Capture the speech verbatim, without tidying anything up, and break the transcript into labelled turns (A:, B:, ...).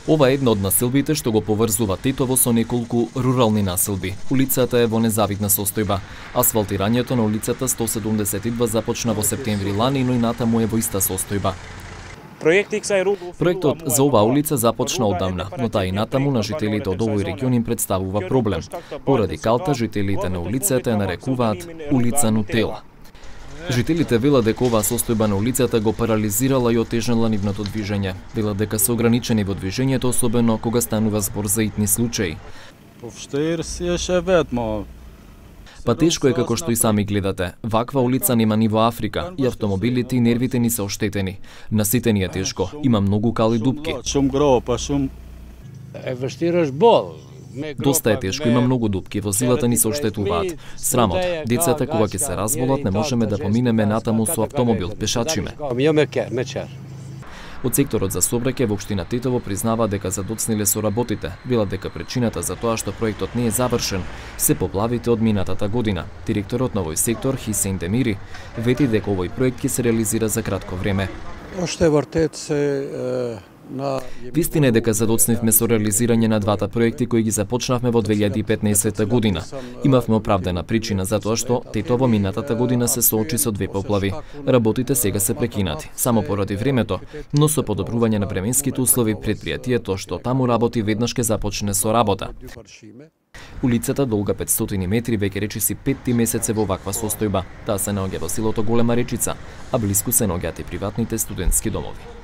A: Ова е една од населбите што го поврзува Тетово со неколку рурални населби. Улицата е во незавидна состојба. Асфалтирањето на улицата сто седумдесет и два започна во септември лани, но и натаму е во иста состојба. Проектот за оваа улица започна одамна, но таа и натаму на жителите од овој регион им представува проблем. Поради калта, жителите на улицата ја нарекуваат улица Нутела. Жителите велат дека оваа состојба на улицата го парализирала и отежнала нивното движење. Велат дека се ограничени во движењето, особено кога станува збор за итни случаи. Па тешко е како што и сами гледате. Ваква улица нема ни во Африка и автомобилите и нервите ни се оштетени. На сите ни е тешко. Има многу кали дупки. Доста е тешко, има многу дупки, возилата ни се оштетуваат. Срамот, децата кога ќе се разболат не можеме да поминеме натаму со автомобил, пешачиме. Од секторот за сообраќај во општина Тетово признава дека задоцниле со работите. Велат дека причината за тоа што проектот не е завршен се поплавите од минатата година. Директорот на овој сектор, Хисейн Демири, вети дека овој проект ќе се реализира за кратко време. Вистина е дека задоцнивме со реализирање на двата проекти кои ги започнавме во две илјади и петнаесетта година. Имавме оправдана причина за тоа што Тетово минатата година се соочи со две поплави. Работите сега се прекинати, само поради времето, но со подобрување на временските услови предпријатието што таму работи веднаш ќе започне со работа. Улицата долга петстотини метри веќе речиси петти месец е во ваква состојба. Таа се наоѓа во селото Голема Речица, а блиску се наоѓаат и приватните студентски домови.